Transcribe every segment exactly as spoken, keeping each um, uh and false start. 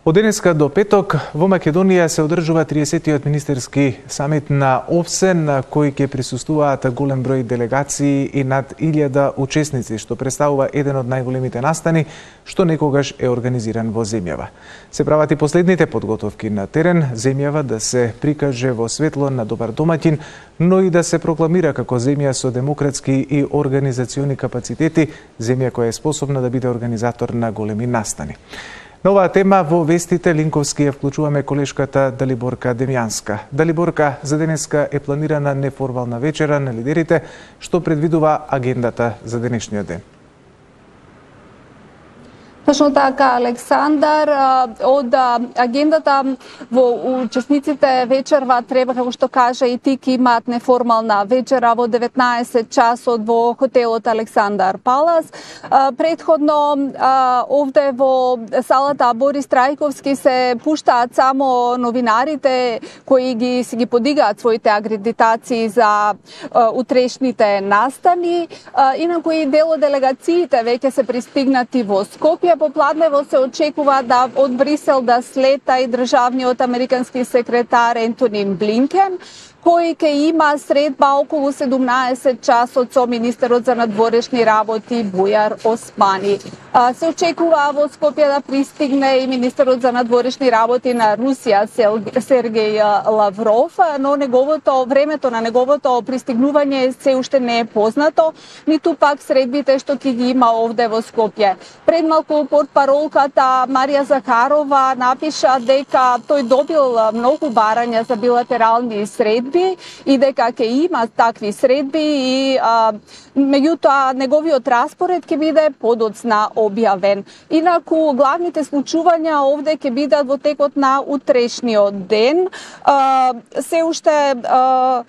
Од денеска до петок во Македонија се одржува триесеттиот министерски самит на ОВСЕ, на кој ќе присуствуваат голем број делегации и над илјада учесници, што представува еден од најголемите настани што некогаш е организиран во земјава. Се прават и последните подготовки на терен, земјава да се прикаже во светло на добар домаќин, но и да се прокламира како земја со демократски и организациони капацитети, земја која е способна да биде организатор на големи настани. На оваа тема во вестите линковски ја вклучуваме колешката Далиборка Демјанска. Далиборка, за денеска е планирана неформална вечера на лидерите, што предвидува агендата за денешниот ден. Точно така, Александар, од агендата во учесниците вечерва треба, како што кажа и ти, имаат неформална вечера во деветнаесет часот во хотелот Александар Палас. Предходно овде во салата Борис Трајковски се пуштаат само новинарите кои ги си ги подигаат своите акредитации за утрешните настани. Инаку и дел од делегациите веќе се пристигнати во Скопје. Попладнево се очекува да од Брисел да слета и државниот американски секретар Ентони Блинкен, кој ќе има средба околу седумнаесет часот со министерот за надворешни работи Бујар Османи. Се очекува во Скопје да пристигне и министерот за надворешни работи на Русија Сергеј Лавров, но неговото времето на неговото пристигнување се уште не е познато, ниту пак средбите што ќе ги има овде во Скопје. Пред малку портпаролката Марија Захарова напиша дека тој добил многу барања за билатерални средби и дека ќе има такви средби и а, меѓутоа неговиот распоред ќе биде подоцна објавен. Инаку главните случувања овде ќе бидат во текот на утрешниот ден. А, се уште а,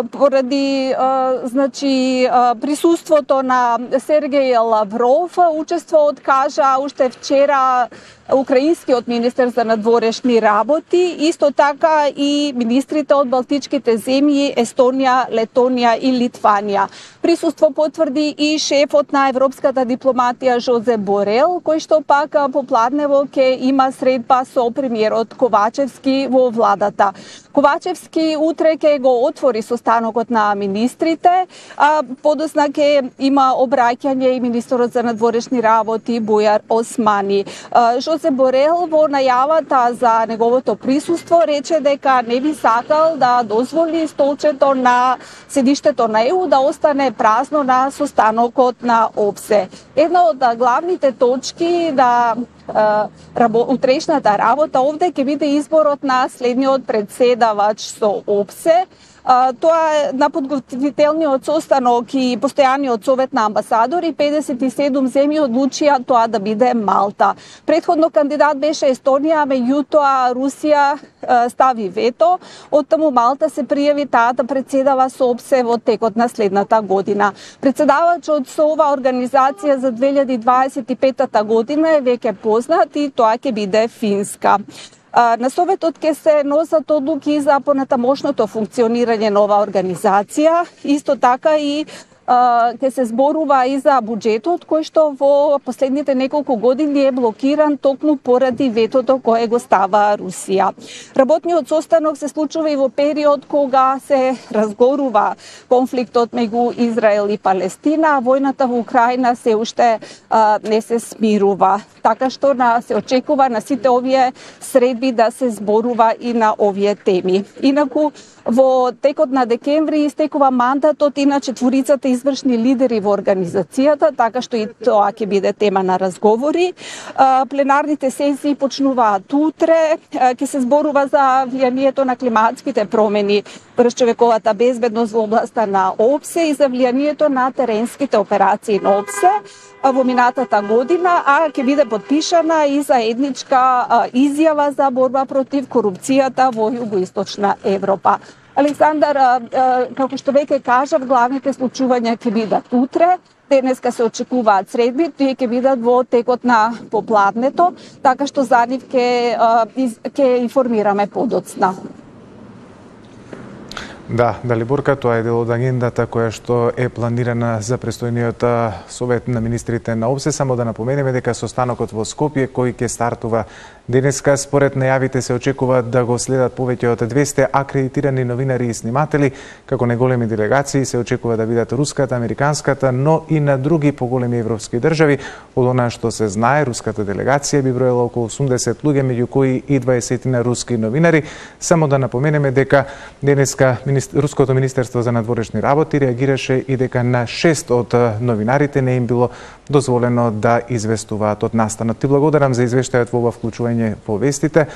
поради а, значи а, присуството на Сергеј Лавров, учествоот кажа уште вчера украинскиот министер за надворешни работи, исто така и министрите од балтичките земји Естонија, Летонија и Литванија. Присуство потврди и шефот на европската дипломатија Жозе Борел, кој што пак попладнево ќе има средба со премиерот Ковачевски во владата. Ковачевски утре ќе го отвори состанокот на министрите, а подосна ќе има обраќање и министерот за надворешни работи Бујар Османи. Жозе Борел во најавата за неговото присуство рече дека не би сакал да дозволи столчето на седиштето на ЕУ да остане празно на состанокот на ОВСЕ. Една од главните точки на утрешната работа овде ќе биде изборот на следниот председавач со ОВСЕ. Тоа е на подготвителниот состанок и постојаниот совет на амбасадори. педесет и седум земји одлучија тоа да биде Малта. Предходно кандидат беше Естонија, меѓутоа Русија стави вето. Оттаму Малта се пријави таа да председава со ОВСЕ во текот на следната година. Председавачот со оваа организација за две илјади дваесет и петта година е веќе познат и тоа ќе биде Финска. На Советот ќе се носат одлуки за понатамошното функционирање на оваа организација, исто така и ќе се зборува и за буџетот кој што во последните неколку години е блокиран токму поради ветото кое го става Русија. Работниот состанок се случува и во период кога се разгорува конфликтот меѓу Израел и Палестина, а војната во Украина се уште а, не се смирува. Така што на, се очекува на сите овие средби да се зборува и на овие теми. Инаку во текот на декември истекува мандатот и на четворицата извршни лидери во организацијата, така што и тоа ќе биде тема на разговори. Пленарните сесии почнуваат утре, ќе се зборува за влијанието на климатските промени врз човековата безбедност во областа на ОВСЕ и за влијанието на теренските операции на ОВСЕ во минатата година, а ќе биде подпишана и заедничка изјава за борба против корупцијата во Југоисточна Европа. Александар, како што веќе кажав, главните случувања ќе бидат утре. Денеска се очекуваат средби, тие ќе бидат во текот на попладнето, така што за нив ќе ќе информираме подоцна. Да, Далиборка, тоа е дел од агендата која што е планирана за престојниот совет на министрите на ОВСЕ. Само да напоменеме дека состанокот во Скопје, кој ќе стартува Денеска, според најавите, се очекува да го следат повеќе од двесте акредитирани новинари и сниматели, како неголеми делегации се очекува да бидат руската, американската, но и на други поголеми европски држави. Од она што се знае, руската делегација би броела околу осумдесет луѓе, меѓу кои и дваесет на руски новинари. Само да напоменеме дека денеска Руското министерство за надворешни работи реагираше и дека на шест од новинарите не им било дозволено да известуваат од настанот. Ти благодарам за извештајот во ова вклучување во вестите.